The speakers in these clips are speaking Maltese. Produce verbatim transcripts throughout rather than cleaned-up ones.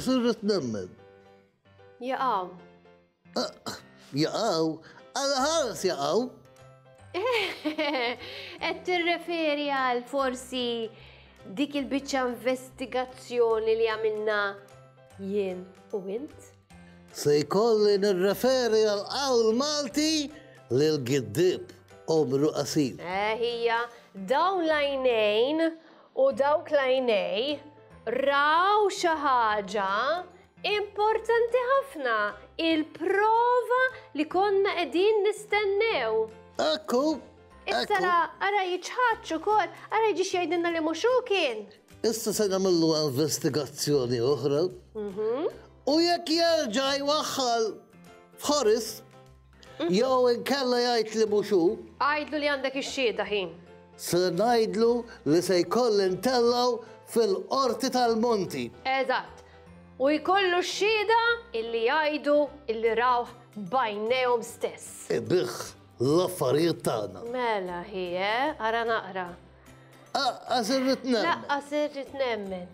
Aqqas irrid nemmen. Jaqaw. Jaqaw? Għala ħares jaqaw? Qed tirreferi għal forsi dik il-biċċa investigazzjoni li għamilna jien u int? Se jkolli nirreferi għal qawl Malti li l-giddib għomru qasir. Eh, hija, dawn l-għajnejn u dawk l-għajnej raw xi ħaġa importanti ħafna, il-prova li konna qegħdin nistennew. Ekku, Issa ra, ara jiċħadx ukoll, ara jiġix jgħidilna li mhux hu kien. Issa se nagħmlu investigazzjoni oħra. U jekk jerġa' jwaħħal f'Horis, jew inkella jgħid li mhux hu, Għidlu li għandek ix-xhieda ħin. se ngħidlu li se jkolli ntellgħu fil-qorti tal-Monti. Eżatt. U jkollu x-xhieda illi jgħidu illi rawh b'għajnejhom stess. Ibigħ l-affarijiet tagħna. Mela hi, eh? Ara naqra. Aqqas irrid nemmen. Laqqas irrid nemmen.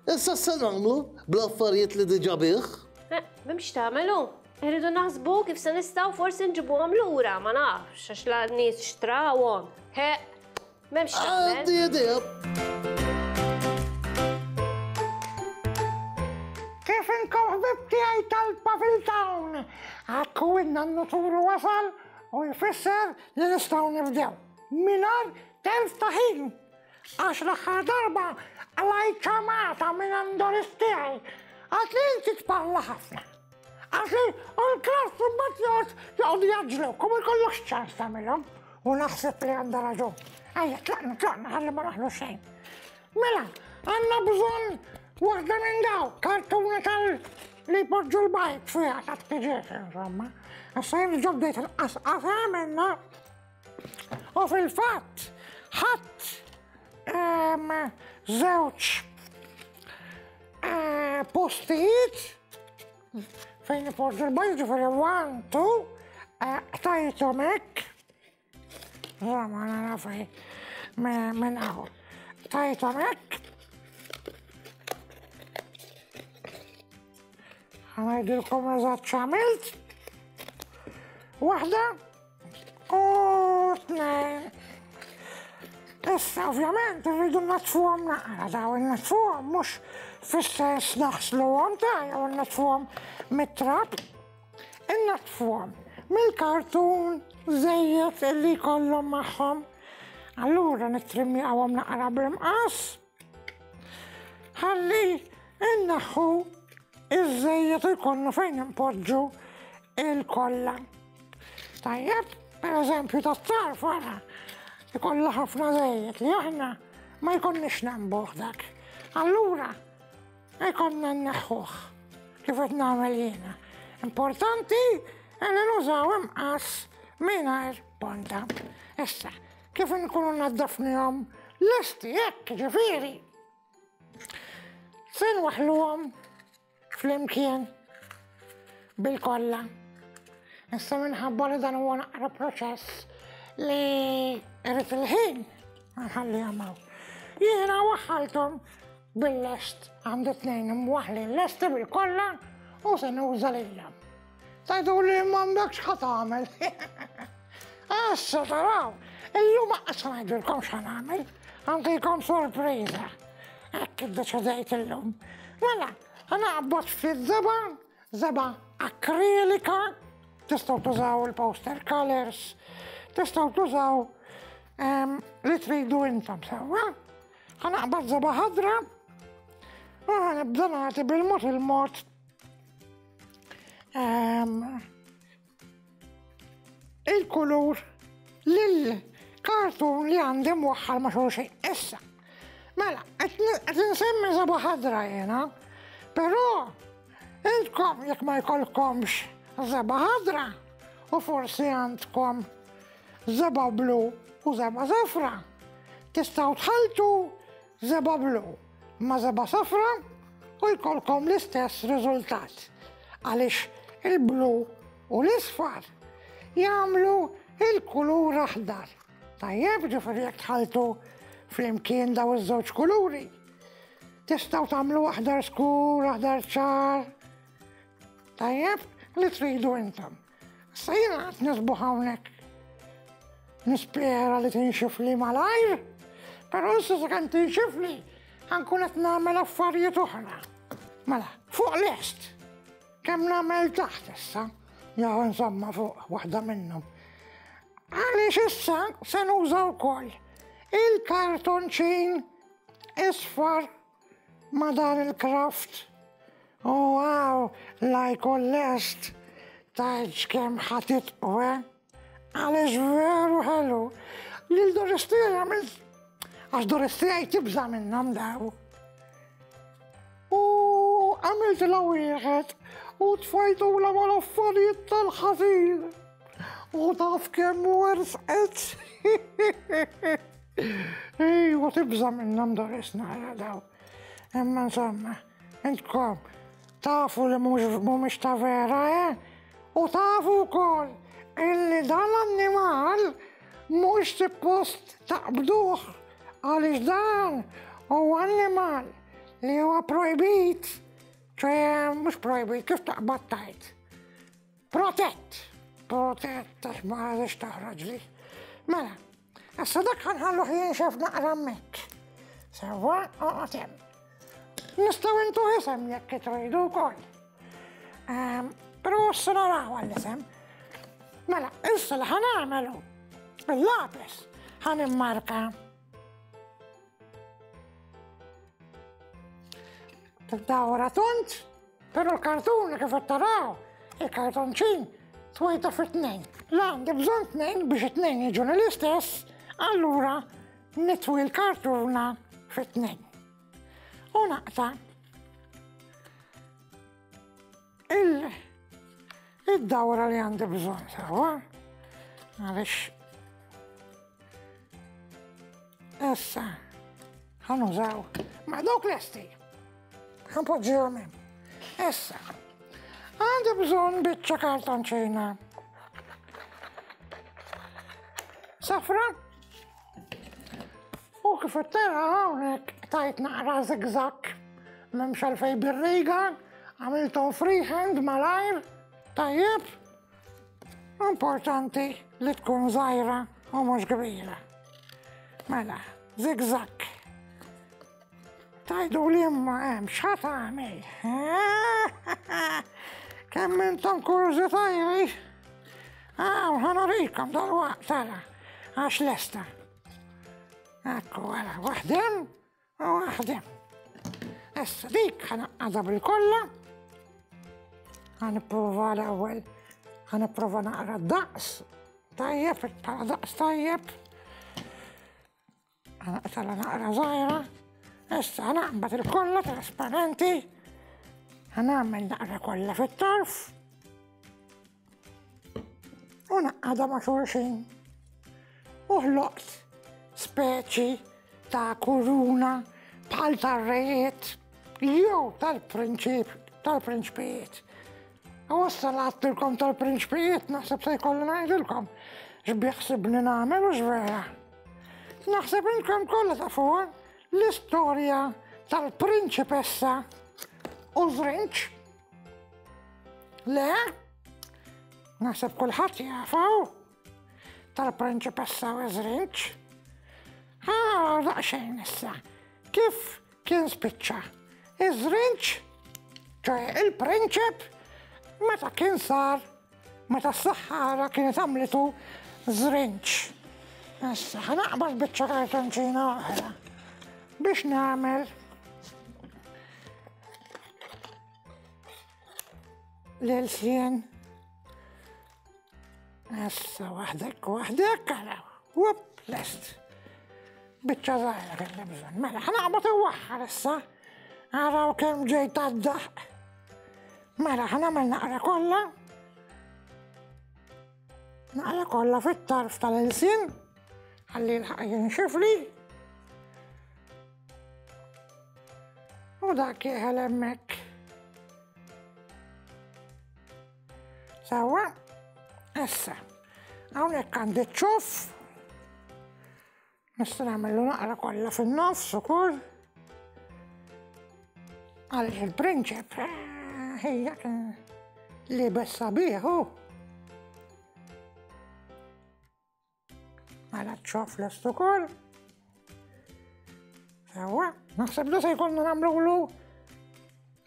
Issa se nagħmlu bl-affarijiet li diġà biegħ. Eh, m'hemmx tagħmelu. Irridu naħsbu kif se nistgħu forsi nġibuhom lura, ma nafx għax la nies xtrawhom. He, m'hemmx tagħmel. Għandi idea. Kif inkom ħbib tiegħi tal-Pavil Town? Akku in-nannu Turu wasal u jfisser li nistgħu nibdew. Mingħajr telf ta' ħin. Għax l-aħħar darba għalajt ċamata minn Andoris tiegħi. Għat li inti tparla ħafna. Għax li u l-klass mbagħad joqgħod joqgħod jaġlu, kum ikollokx ċans tagħmilhom. U naħseb li għandha raġun. Ejja, tlaqna, tlaqna, ħalli ma naħlu xejn. Mela, għandna bżonn waħda minn daw, kartuna tal li jpoġġu l-bajt fiha ta' tiġiex, insomma. Issa jien ġobdejt il-qasqasa minna. U fil-fatt, ħadd ehm, żewġ eh, postijiet fejn ipoġġu l-bajt, ġifieri one, two, eh, tajthom hekk. Insomma, nara fej minn hawn. Tajthom hekk. Ħa ngħidilkom eżatt x'għamilt. Waħda u tnejn. Issa ovvjament irridu natfuhom naqra, daw natfuhom mhux fis-sens naħsluhom ta' jew natfuhom mit-trab. Innatfuhom mill-kartun żejjed illi jkollhom magħhom. Allura nittrimjawhom naqra bl-imqas. Ħalli innaħħu iż-żejjed u jkollna fejn impoġġu il-kolla. Tajjeb, per eżempju tat-tarf wara, ikollha ħafna żejjed li aħna ma jkollniex nembuh dak. Allura, jkollna nneħħuh kif qed nagħmel jiena. Importanti li nużaw imqas mingħajr ponta. Issa, kif nkunu naddafnihom lesti hekk ġifieri. Se nwaħħluhom flimkien bil-kolla. Issa minħabba li dan huwa naqra proċess li irrid il-ħin nħallihom hawn. Jiena waħħalthom bil-lest, għandi tnejn imwaħħlin lesti bil-kolla u se nuża lilhom. Tajdu li m'għandekx ħa tagħmel. Issa taraw, illum aqas ngħidilkom x'ħa nagħmel, għandikom sorpriża. Hekk iddeċidejt illum. Mela, ħanaqbad ftit żebgħa, żebgħa akrilika, tistgħu tużaw il-poster colors, tistgħu tużaw, ehm, li tridu intom sewwa. Ħanaqbad żebgħa ħadra u ħanibda nagħti bil-mod il-mod, ehm, il-kulur lil-kartun li għandi mwaħħal ma' xulxin. Issa, mela, qed insemmi żebgħa ħadra jiena, però intkom jekk ma jkollkomx żebgħa ħadra u forsi għandkom żebgħa blu u żebgħa safra, tistgħu tħalltu żebgħa blu ma' żebgħa safra u jkollkom l-istess riżultat. Għaliex il-blu u l-isfar jagħmlu il-kulur aħdar. Tajjeb, ġifieri jekk tħalltu flimkien daw iż-żewġ kuluri, Tistgħu tagħmlu aħdar skur, aħdar ċar. Tajjeb, li tridu intom. Issa jiena qed nisbuħ hawnhekk. Nispera li tinxifli malajr, però issa sakemm tinxifli ħankun qed nagħmel affarijiet oħra. Mela, fuq lest. Kemm nagħmel taħt issa, jew insomma fuq waħda minnhom. Għaliex issa se nuża wkoll il-kartonċin isfar ma' dan il-kraft. U għaw, la jkun lest, tajġ kemm ħatit u għaliex veru ħelu. Lil Doristija għamilt, għax Doristija tibża' minnhom daw. U għamilt la wieħed u tfajtu la mal-affarijiet tal-ħażin. U taf kemm wersqet. Ejwa tibża' minnhom Doris nara daw. Imma insomma, intkom tafu li mhumiex ta' vera, eh? U tafu wkoll illi dan l-annimal mhux suppost taqbduh għaliex dan huwa annimal li huwa projbit, ċe mhux projbit, kif taqbad tajt? Protett, protett għax ma għadix taħroġli. Mela, issa dak ħanħalluh jinxef naqra hemmhekk. Sewwa, oqgħod hemm. Nistgħu intu isem jekk tridu wkoll. Però issa naraw għall-isem. Mela, issa li ħa nagħmelu bil-lapis ħa nimmarka. Tibda tont, però l-kartuna kif qed taraw, il-kartonċin twejta fi tnejn. La għandi bżonn tnejn biex it-tnejn jiġuni l-istess, allura nitwi l-kartuna fi tnejn. U naqta' il-dawra li għandi bżonn sewwa, għaliex issa ħa nużaw ma' dawk lesti, ħa npoġġihom hemm. Issa għandi bżonn biċċa kartonċina safra u kif tara hawnhekk tajt naqra zigzag, m'hemmx għalfejn bir-riga, għamilthom freehand malajr, tajjeb. Importanti li tkun żgħira u mhux kbira. Mela, zigzag. Tajdu li imma hemm x'ħa tagħmel. Kemm intom kurżitajri? Aw, ħa nurikom dalwaqt tara, għax lesta. Ekku, għara, waħdem u waħdem. Issa dik ħa naqqadha bil-kolla. Ħa nipprova l-ewwel, ħa nipprova naqra d-daqs. Tajjeb, bħala daqs tajjeb. Ħa naqtala naqra żgħira. Issa ħa naqbad il-kolla trasparenti. Ħa nagħmel naqra kolla fit-tarf. U naqqadha ma' xulxin. U ħloqt speċi ta' kuruna bħal tar-rejiet jew tal-prinċip, tal-prinċpijiet. U issa għedtilkom tal-prinċpijiet, naħseb se jkolli ngħidilkom x'biħsibni nagħmel u x'vera. Naħseb inkom kollha tafuha l-istorja tal-prinċipessa u żrinġ. Le? Naħseb kulħadd jafaw tal-prinċipessa u żrinġ. Ħa daqsxejn issa. Kif kien spiċċa? Iż-żrinġ, ċoe il-prinċip, meta kien sar, meta s-saħħara kienet għamlitu żrinġ. Issa ħa naqbad biċċa kartonċina oħra biex nagħmel l-ilsien. Issa waħdek waħdek, ara, wup, lest. Biċċa żgħira kelli bżonn. Mela ħa naqbad iwaħħar issa. Araw kemm ġejt għad-daħq. Mela ħa nagħmel naqra kollha. Naqra kollha fit-tarf tal-ilsien. Ħalli l-ħaq jinxifli. U dak jeħel hemmhekk. Sewwa, issa, hawnhekk għandi ċ-ċuff. Nista' nagħmlu naqra kollha fin-nofs ukoll. Għaliex il-prinċep ħejja libes sabiħ hu. Mela ċ-ċoff lest ukoll. Sewwa, naħseb li se jkollna nagħmlulu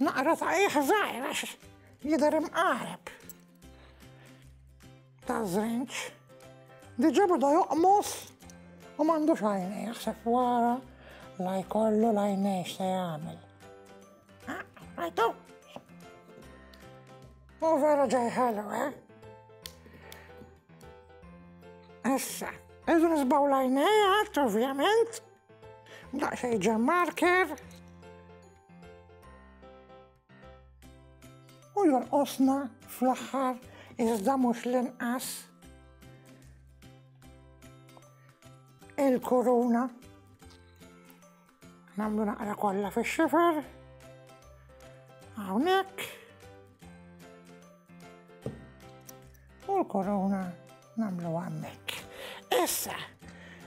naqra ta' qiegħ żgħir għax jidher imqareb. Ta' żrinġ. Diġà beda joqmos u m'għandux għajnej, jaħseb wara la jkollu l-għajnej x'se jagħmel. Rajtu? U vera ġej ħelu, eh? Issa, irridu nisbaw l-għajnej għad, ovvjament. Daqsxejn ġem marker. U jonqosna fl-aħħar iżda mhux l-inqas il-kuruna. Nagħmlu naqra kollha fix-xifer. Hawnhekk. U l-korona nagħmlu hemmhekk. Issa,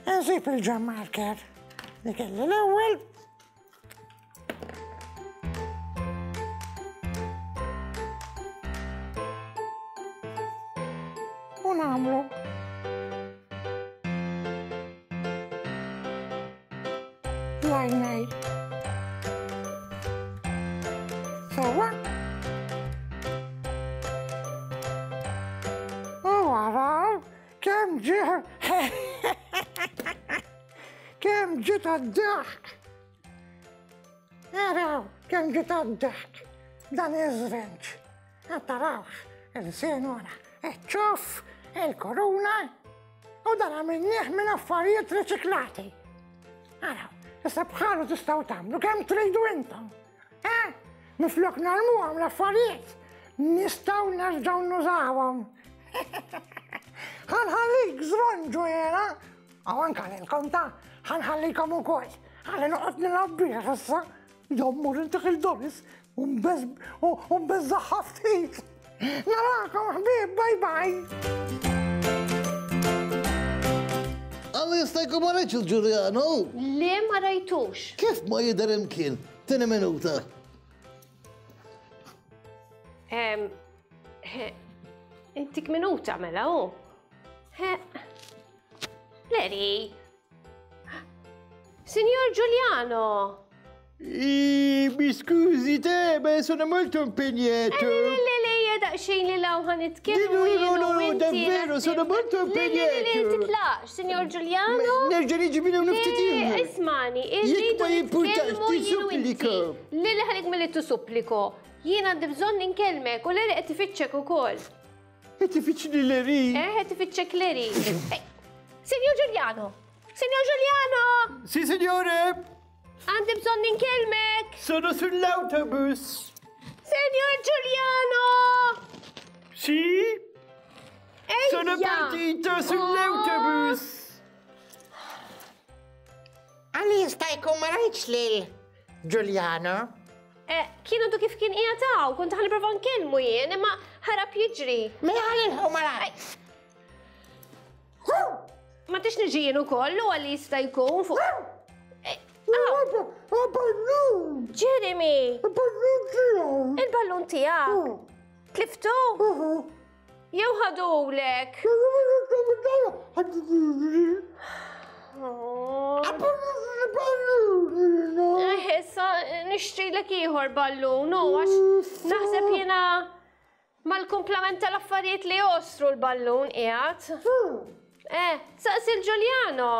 nżib il-ġem marker li kelli l-ewwel. U nagħmlu l-għajnej. Sewwa. U waraw kemm ġie kemm ġiet għad-daħk. Araw kemm ġiet għad-daħk dan iż-żrinġ. Tarawx il-sien wara, iċ-ċoff, il-koruna u dan għamilnieh minn affarijiet riċiklati. Araw, issa bħalu tistgħu tagħmlu kemm tridu intom. Eh? Miflok narmuhom l-affarijiet, nistgħu nerġgħu nużawhom. Ħanħallik żronġu jiena, u anke lilkom ta' ħanħallikom ukoll. Ħalli noqgħod nilgħab bih issa. Jommur inti il-Doris u nbeżżaħħa ftit. Narakom ħbieb, bye bye. Għalli jista' jkun ma rajtx il-Ġuljano? Le ma rajtux. Kif ma jidher imkien? Tieni minuta. Intik minuta mela hu. Leri. Signor Giuliano. Mi scusi te, ma sono molto impegnato. Le, le, le, daqsxejn li law ħa nitkellmu. No, no, no, davvero, sono molto impegnato. Le, le, titlaqx, signor Giuliano. Nerġa' niġi minnu niftit ieħor. Ismani, irridu nitkellmu jien u inti. Le, le, ħalik milli tissupplico. Jien għandi bżonn inkellmek u Leri qed ifittxek ukoll. Qed ifittxni Leri? Eh, qed ifittxek Leri. Signor Giuliano! Signor Giuliano! Sì, signore! Għandi bżonn inkellmek! Sono sull'autobus! Signor Giuliano! Sì? Ejja! Sono partito sull'autobus! Għalli jista' jkun ma rajtx lil Giuliano? Kien għadu kif kien qiegħed hawn, kont ħa nipprova nkellmu jien, imma ħarab jiġri. Mela ħalilħu ma rajt. Ma tix niġi jien ukoll u għalli jista' jkun fuq. Ballun! Jeremy! Il-ballun tiegħi! Il-ballun tiegħek? Tliftu? Jew ħadulek? Issa nixtrilek ieħor ballun, u għax naħseb jiena mal-kumplament tal-affarijiet li jostru l-ballun qiegħed. Eh, saqsi l-Giuliano.